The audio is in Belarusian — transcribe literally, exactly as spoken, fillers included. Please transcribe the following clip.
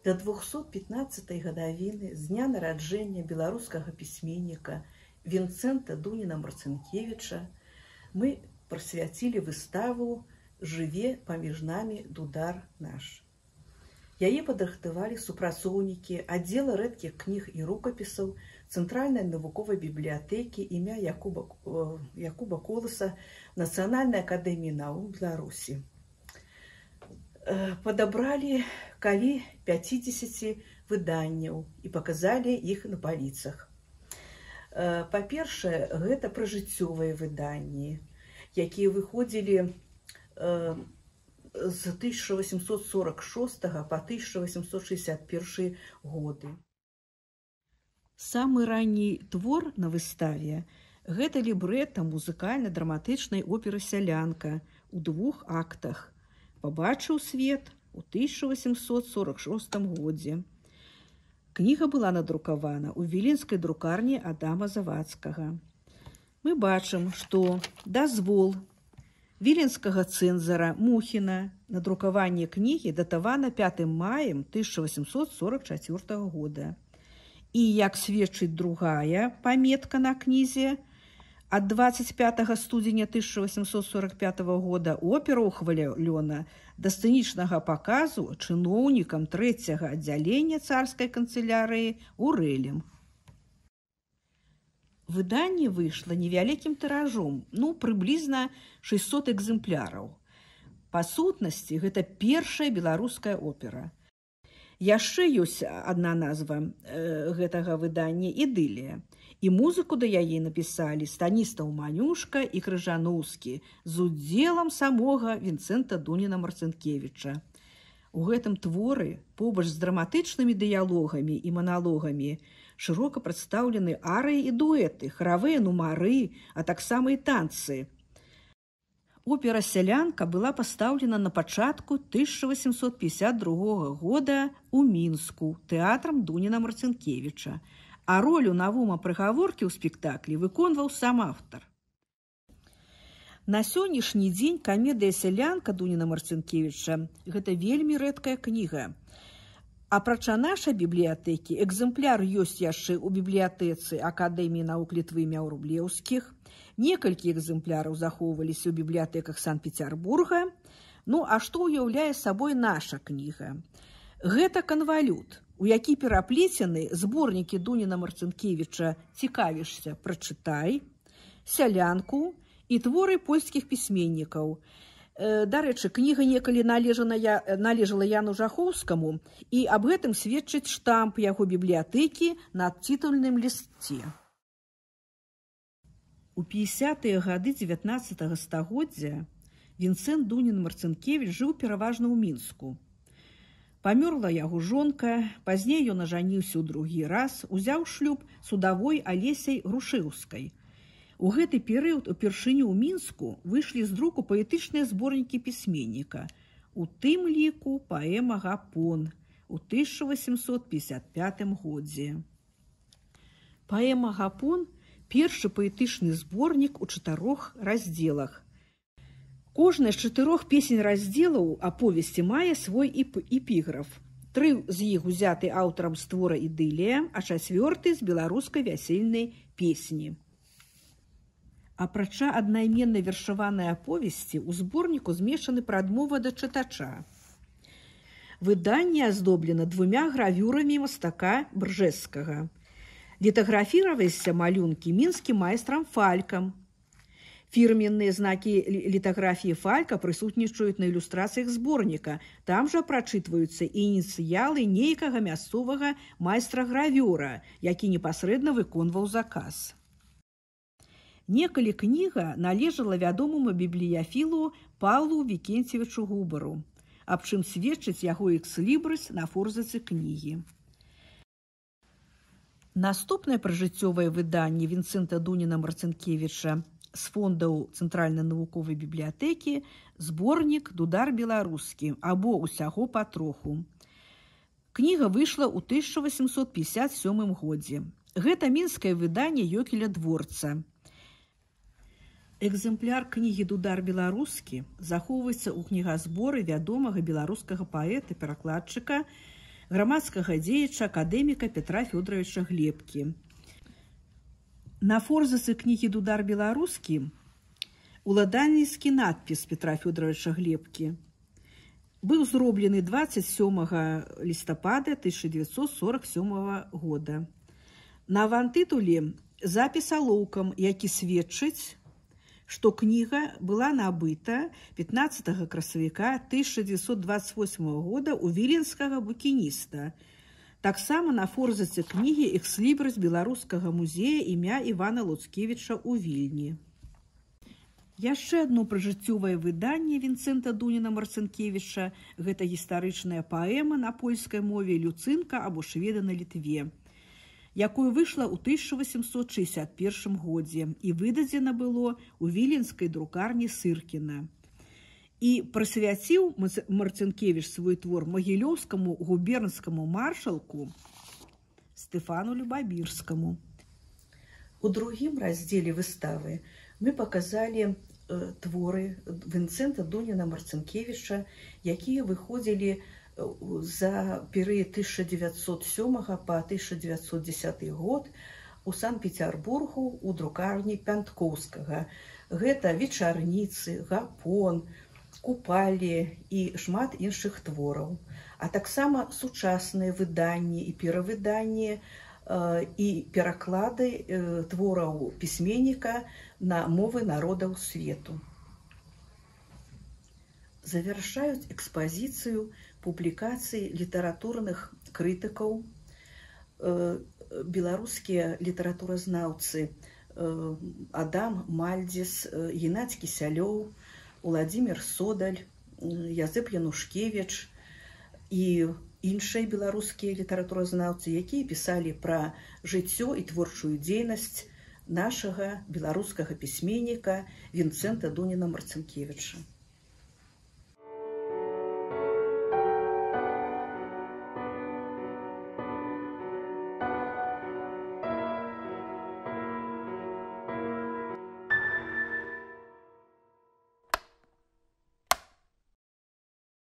Да двухсот пятнадцатай гадавіны з дня нараджэння беларускага пісьменніка Вінцэнта Дуніна-Марцінкевіча мы прысвяцілі выставу «Жыве паміж намі дудар наш». Яе падрыхтавалі супрацоўнікі аддзела рэдкіх кніг і рукапісаў Цэнтральнай навуковай бібліятэкі імя Якуба, Якуба Коласа Нацыянальнай акадэміі навук Беларусі. Падабралі каля пяцідзесяці выданняў і паказалі іх на паліцах. Па-першае, гэта пражыццёвыя выданні, якія выходзілі з тысяча восемьсот сорок шостага па тысяча восемьсот шестьдесят першы годы. Самы ранні твор на выставе – гэта лібрэта музыкальна-драматычнай оперы «Сялянка» у двух актах. Пабачыў свет у тысяча восемьсот сорок шостым годзе. Кніга была надрукавана ў віленскай друкарні Адама Завадскага. Мы бачым, што дазвол віленскага цэнзара Мухіна на друкаванне кнігі датавана пятым маем тысяча восемьсот сорок чацвёртага года. І, як сведчыць другая паметка на кнізе, ад дваццаць пятага студзеня тысяча восемьсот сорок пятага года опера ўхвалёна да сцэнічнага паказу чыноўнікам трэцяга аддзялення царскай канцылярыі Урэлем. Выданне выйшла невялікім тыражом, ну, прыблізна шэсцьсот экземпляраў. Па сутнасці, гэта першая беларуская опера. Яшчэ ёсць адна назва э, гэтага выдання «Ідылія». І музыку да яе напісалі Станіслаў Манюшка і Крыжаноўскі з удзелам самога Вінцэнта Дуніна-Марцінкевіча. У гэтым творы, побач з драматычнымі дыялогамі і маналогамі, шырока прадстаўлены арыі і дуэты, харавыя нумары, а таксама і танцы. Опера «Сялянка» была пастаўлена на пачатку тысяча восемьсот пятьдесят другога года ў Мінску тэатрам Дуніна-Марцінкевіча, а ролю Навума Прыгаворкі ў спектаклі выконваў сам аўтар. На сённяшні дзень камедыя «Сялянка» Дуніна-Марцінкевіча – гэта вельмі рэдкая кніга. Апрача нашай бібліятэкі, экземпляр ёсць яшчэ ў бібліятэцы Акадэміі навук Літвы імя Врублеўскіх, некалькі экземпляраў захоўваліся ў бібліятэках Санкт-Петербурга. Ну, а што ўяўляе сабой наша кніга? Гэта канвалют, у які пераплецены зборнікі Дуніна-Марцінкевіча «Цікавішся, прачытай», «Сялянку» і творы польскіх пісьменнікаў. Дарэчы, кніга некалі належала Яну Жахоўскаму, і аб гэтым сведчыць штамп яго бібліятэкі на тытульным лісце. У пятидесятыя гады дзевятнаццатага стагоддзя Вінцэнт Дунін-Марцінкевіч жыў пераважна ў Мінску. Памёрла яго жонка, пазней ён ажаніўся ў другі раз, узяў шлюб з удавой Алесяй Грушэўскай. У гэты перыяд упершыню ў Мінску выйшлі з друку паэтычныя зборнікі пісьменніка, у тым ліку паэма «Гапон» у тысяча восемьсот пятьдесят пятым годзе. Паэма «Гапон» – першы паэтычны зборнік у чатырох раздзелах. Кожная з чатырох песень раздзелаў аповесці мае свой эпіграф. Тры з іх узяты аўтарам з твора «Ідылія», а чацвёрты з беларускай вясельнай песні. Апрача аднайменнай вершаванай аповесці, у зборніку змешчаны прадмова да чытача. Выданне аздоблена двумя гравюрамі мастака Бржэзскага. Літаграфіраваліся малюнкі мінскім майстрам Фалькам. Фірменныя знакі літаграфіі Фалька прысутнічаюць на ілюстрацыях зборніка. Там жа прачытваюцца ініцыялы нейкага мясцовага майстра-гравёра, які непасрэдна выконваў заказ. Некалі кніга належала вядомаму бібліяфілу Паўлу Вікенцевічу Губару, аб чым сведчыць яго экслібрыс на форзацы кнігі. Наступнае пражыццёвае выданне Вінцэнта Дуніна-Марцінкевіча з фондаў Цэнтральнай навуковай бібліятэкі зборнік «Дудар беларускі» або «Усяго патроху». Кніга выйшла ў тысяча восемьсот пятьдесят сёмым годзе. Гэта мінскае выданне Ёкеля Дворца. Экземпляр кнігі «Дудар беларускі» захоўваецца ў кнігазборы вядомага беларускага паэта-перакладчыка грамадскага дзеяча акадэміка Петра Фёдоровича Глебкі. На форзацы кнігі «Дудар беларускі» уладальніцкі надпіс Петра Фёдоровича Глебкі быў зроблены дваццаць сёмага лістапада тысяча девятьсот сорок сёмага года. На авантытуле запіс алоўкам, які сведчыць, што кніга была набыта пятнаццатага красавіка тысяча девятьсот двадцать восьмага года у віленскага букініста. Таксама на форзацы кнігі экслібрыс беларускага музея імя Івана Луцкевіча ў Вільні. Яшчэ адно пражыццёвае выданне Вінцэнта Дуніна Марцінкевіча – гэта гістарычная паэма на польскай мове «Люцынка» або «Шведы на Літве», якое выйшла ў тысяча восемьсот шэсцьдзесят першым годзе і выдадзена было ў віленскай друкарні Сыркіна. І прысвяціў Марцінкевіч свой твор магілёўскаму губернскаму маршалку Стэфану Любабірскаму. У другім раздзеле выставы мы паказалі творы Вінцэнта Дуніна Марцінкевіча, якія выходзілі за перыяд тысяча девятьсот сёмага па тысяча девятьсот дзесяты год у Санкт-Петербургу у друкарні Пянткоўскага. Гэта вечарніцы, гапон, купалі і шмат іншых твораў, а таксама сучасныя выданні і перавыданні і пераклады твораў пісьменніка на мовы народаў свету. Завяршаюць экспазіцыю публікацыі літаратурных крытыкаў беларускія літаратуразнаўцы Адам Мальдзіс, Геннадзь Кісялёў, Уладзімір Содаль, Язэп Янушкевіч і іншыя беларускія літаратуразнаўцы, якія пісалі пра жыццё і творчую дзейнасць нашага беларускага пісьменніка Вінцэнта Дуніна Марцінкевіча.